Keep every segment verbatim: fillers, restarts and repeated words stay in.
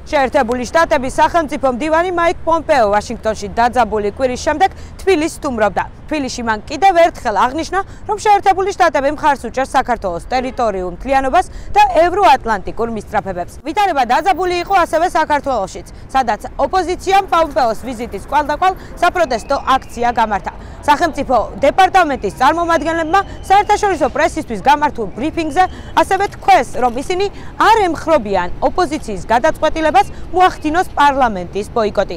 შეერთებული შტატების სახელმწიფო მდივანი მაიკ პომპეო ვაშინგტონში დაძაბული კვირის შემდეგ თბილისს სტუმრობდა. თბილისში მან კიდევ ერთხელ აღნიშნა, რომ შეერთებული შტატები მხარს უჭერს საქართველოს ტერიტორიულ მთლიანობას და ევროატლანტიკურ მისწრაფებებს. ვითარება დაძაბული იყო ასევე საქართველოშიც, სადაც ოპოზიციამ პომპეოს ვიზიტის კვალდაკვალ საპროტესტო აქცია გამართა. სახელმწიფო დეპარტამენტის წარმომადგენლებმა საერთაშორისო პრესისთვის გამართულ ბრიფინგზე ასევე თქვეს, რომ ისინი არ ემხრობიან ოპოზიციის გადაწყვეტილებას მოახდინოს პარლამენტის ბოიკოტი.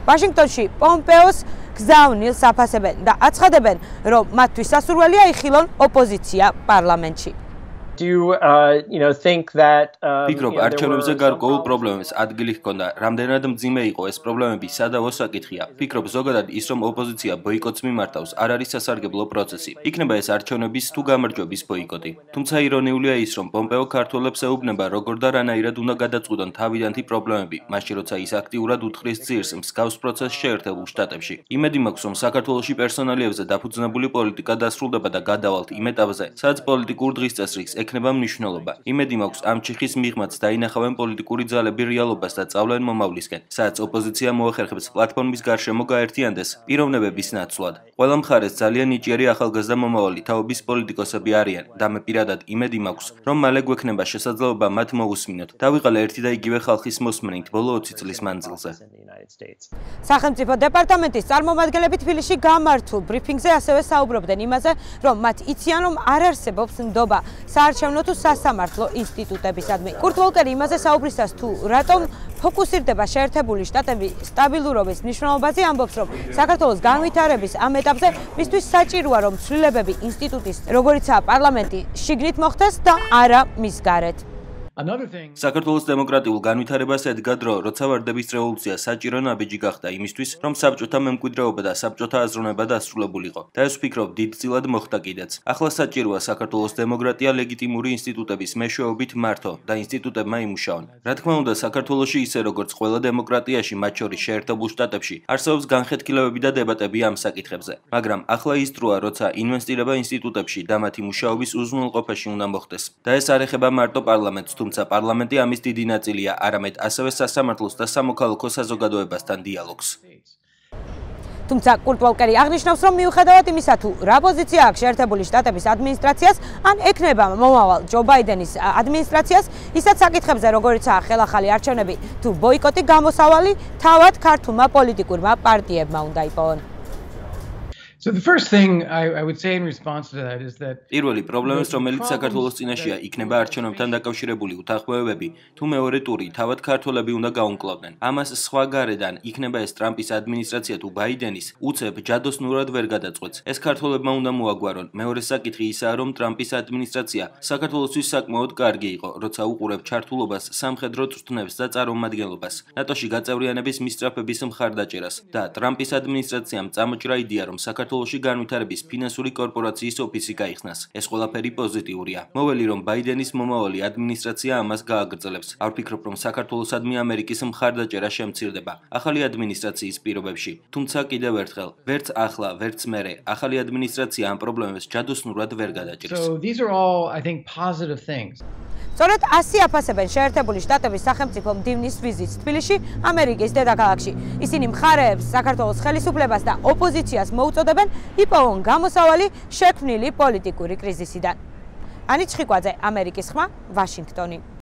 ვაშინგტონში პომპეოს გზავნილს აფასებენ და აცხადებენ, რომ მათთვის სასურველია იხილონ ოპოზიცია პარლამენტში. Do you, uh, you know, think that um, ფიქრობ, არჩევნებზე გარკვეულ პრობლემებს ადგილი ჰქონდა. რამდენად მძიმე იყო ეს პრობლემები, სადავო საკითხია. ფიქრობ, ზოგადად ის, რომ ოპოზიცია ბოიკოტს მიმართავს, არ არის სასარგებლო პროცესი. იქნება ეს არჩევნების თუ გამარჯვების ბოიკოტი. თუმცა ირონიულია ის, რომ პომპეო ქართველებს ეუბნება, როგორ და რანაირად უნდა გადაწყვიტონ თავიდანთი პრობლემები, მაშინ როცა ის აქტიურად უთხრის ძირს მსგავს პროცესს შეერთებულ შტატებში. იმედი მაქვს, რომ საქართველოში პერსონალიებზე დაფუძნებული პოლიტიკა დასრულდება და გადავალთ იმ ეტაპზე, სადაც პოლიტიკურ დღისწესრიგს ექნება მნიშვნელობა. იმედი მაქვს, ამ ჩიხის მიღმაც დაინახავენ პოლიტიკური ძალები რეალობას და წავლენ მომავლისკენ, სადაც ოპოზიცია მოახერხებს პლატფორმის გარშემო გაერთიანდეს პიროვნებების ნაცვლად. ყველა მხარეს ძალიან ნიჭიერი ახალგაზრდა მომავალი თაობის პოლიტიკოსები არიან და მე პირადად იმედი მაქვს, რომ მალე გვექნება შესაძლებლობა მათ მოусმინოთ და ვიყალე ერთი და იგივე ხალხის მოსმენით ბოლო ოცი წლის მანძილზე. სახელმწიფო დეპარტამენტის წარმომადგენლები თბილისში გამართულ ბრიფინგზე ასევე საუბრობდნენ იმაზე, რომ მათ იციან, რომ არ არსებობს ნდობა საარჩევნო თუ სასამართლო ინსტიტუტებისადმი. კურტ ვოლკერი იმაზე საუბრისას თუ რატომ ფოკუსირდება შეერთებული შტატების სტაბილურობის მნიშვნელობაზე ამბობს, რომ საქართველოს განვითარების ამ ეტაპზე მისთვის საჭიროა, რომ ცვლილებები ინსტიტუტის, როგორიცაა პარლამენტი, შიგნით მოხდეს და არა მის გარეთ. საქართველოს დემოკრატიულ განვითარებას ედგა დრო, როცა ვარდების რევოლუცია საჭირო ნაბიჯი გახდა იმისთვის, რომ საბჭოთა მემკვიდრეობა და საბჭოთა აზროვნება დასრულებულიყო. და ეს ვფიქრობ, დიდწილად მოხდა კიდეც. ახლა საჭიროა საქართველოს დემოკრატია ლეგიტიმური ინსტიტუტების მეშვეობით მართო და ინსტიტუტებმა იმუშაონ. რა თქმა უნდა, საქართველოში ისე როგორც ყველა დემოკრატიაში, მათ შორის შეერთებულ შტატებში, არსებობს განხეთქილებები და დებატები ამ საკითხებზე. მაგრამ ახლა ის დროა, როცა ინვესტირება ინსტიტუტებში და მათი მუშაობის უზრუნველყოფაში უნდა მოხდეს. და ეს არ ეხება მარტო პარლამენტს, თუმცა პარლამენტი ამის დიდი ნაწილია, არამედ ასევე სასამართლოს და სამოქალაქო საზოგადოებასთან დიალოგს. თუმცა კურტ ვოლკერი აღნიშნავს, რომ მიუხედავად იმისა, თუ რა პოზიცია აქვს შეერთებული შტატების ადმინისტრაციას, ან ექნება მომავალ ჯო ბაიდენის ადმინისტრაციას, ისაც საკითხებზე, როგორიცაა ხელახალი არჩევნები თუ ბოიკოტი, გამოსავალი თავად ქართულმა პოლიტიკურმა პარტიებმა უნდა იპოვონ. So the first thing I, I would say in response to that is that პირველი პრობლემის, რომელიც საქართველოს წინაშეა, იქნება არჩევნებთან დაკავშირებული უთანხმოებები, თუ მეორე ტური თავად ქართველები უნდა გაუმკლავდნენ. ამას სხვა გარედან, იქნება ეს ტრამპის ადმინისტრაცია თუ ბაიდენის, უცებ ჯადოსნურად ვერ გადაწყვეტს. ეს ქართველებმა უნდა მოაგვარონ. მეორე საკითხი ისაა, რომ ტრამპის ადმინისტრაცია საქართველოსთვის საკმაოდ კარგი იყო, როცა უყურებ ჩართულობას, სამხედრო წვრთნებს და წარმომადგენლობას, ნატოში გაწევრიანების მისწრაფების მხარდაჭერას და ტრამპის ადმინისტრაციამ წამოჭრა იდეა, რომ საქართველოში განვითარების ფინანსური კორპორაციის ოფისი გაიხსნას. ეს ყველაფერი პოზიტიურია. მოველი, რომ ბაიდენის მომავალი ადმინისტრაცია ამას გააგრძელებს. არ ვფიქრობ, რომ საქართველოსადმი ამერიკის მხარდაჭერა შემცირდება ახალი ადმინისტრაციის პირობებში. თუმცა კიდევ ერთხელ, ვერც ახლა, ვერც მერე, ახალი ადმინისტრაცია ამ პრობლემებს ჯადოსნურად ვერ გადაჭრის. So these are all, I think, positive things. სწორედ ასი აფასებენ შეერთებული შტატების სახელმწიფო მდივნის ვიზიტს თბილისში, ამერიკის დედაქალაქში. ისინი მხარეებს, საქართველოს ხელისუფლებას და ოპოზიციას მოუწოდებენ იპოვონ გამოსავალი შექმნილი პოლიტიკური კრიზისიდან. ანი ჩხიკვაძე, ამერიკის ხმა, ვაშინგტონი.